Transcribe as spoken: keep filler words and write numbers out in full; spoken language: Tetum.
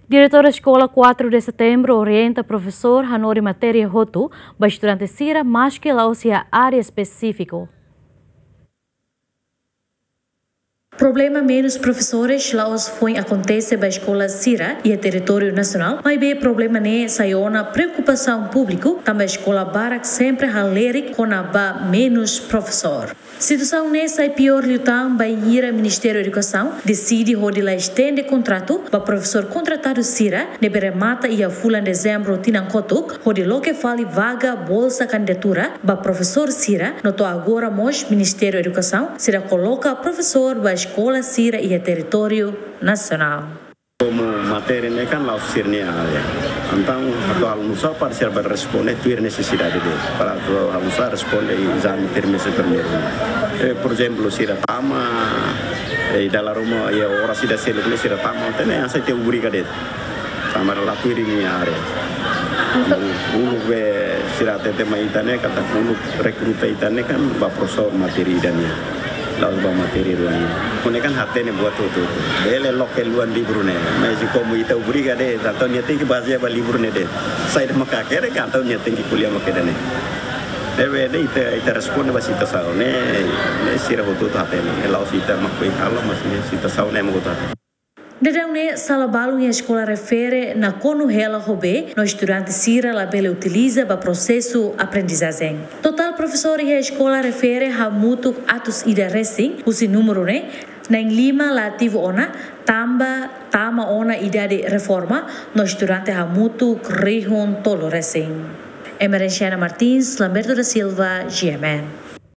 Diretór Eskola Quatro de Setembro orienta profesór hanorin matéria hotu ba estudante sira, maski la'ós iha área espesífiku. Problema menus profesores la'ós foin akontese ba eskola sira iha territóriu nasionál, maibé problema ne'e sai ona preokupasaun públiku, tanba eskola barak sempre halerik kona-ba menus profesór. Situasaun ne'e sai piór liután bainhira Ministériu Edukasaun deside hodi la estende kontratu ba profesór kontratadu sira ne'ebé remata iha fulan Dezembru tinan kotuk, hodi loke fali vaga bolsa kandidatura ba profesór sira, no to'o agora mós Ministériu Edukasaun sira koloka profesór ba eskola sira iha territóriu nasionál. Komu matéria ne'e kan la'ós sira-nia área. Entaun, atu halo nusá para sira bele responde tuir nesesidade de'it. Para atu halo nusá responde ezame trimestre primeiru. Eh, por ezemplu, sira tama, eh, dala ruma, eh, oras ida seluk ne'e sira tama, entaun ne'e hanesan ita obriga de'it. Tanba la tuir nia área. Uluk be sira hatete mai ita ne'e, katak uluk rekruta ita ne'e kan ba profesór matéria ida nian. La'ós ba matéria rua nian. Ne'e kan hatene buat hotu-hotu. Bele loke luan livru ne'e. Mas komu ita obriga de'it, entaun nia tenke bazeia ba livru ne'e de'it. Saida mak hakerek, entaun nia tenke ko'alia mak ida-ne'e. Ne'ebé ne'e ita, ita responde ba situasaun ne'e, ne'e sira hotu-hotu hatene. Ne'e la'ós ita mak foin halo, mas ne'e situasaun ne'e mak hotu hatene. Daudaun ne'e sala balun iha eskola refere nakonu hela ho bee, no estudante sira labele utiliza ba prosesu aprendizajen. Totál profesór iha eskola refere hamutuk atus ida resin, husi númeru ne'e na'in lima la ativu ona, tanba tama ona idade reforma, no estudante hamutuk rihun tolu resin. Emerenciana Martins, Lamberto da Silva, G M N.